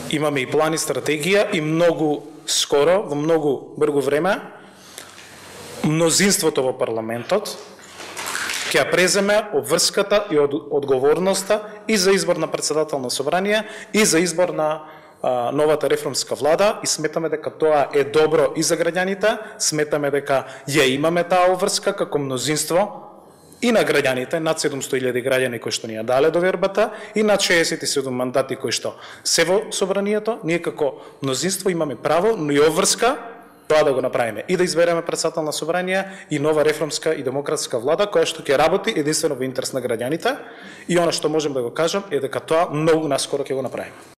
имаме и план и стратегија и многу скоро, во многу брзо време, мнозинството во парламентот ќе ја преземе обврската и одговорноста и за избор на председател на собрание и за избор на новата реформска влада и сметаме дека тоа е добро и за граѓаните, сметаме дека ја имаме таа обврска како мнозинство и на граѓаните, над 700.000 граѓани кои што ни ја дале довербата и над 67 мандати кои што се во собранието, ние како мнозинство имаме право, но и обврска тоа да го направиме и да избереме председател на собрание и нова реформска и демократска влада која што ќе работи единствено во интерес на граѓаните и она што можем да го кажам е дека тоа многу наскоро ќе го направиме.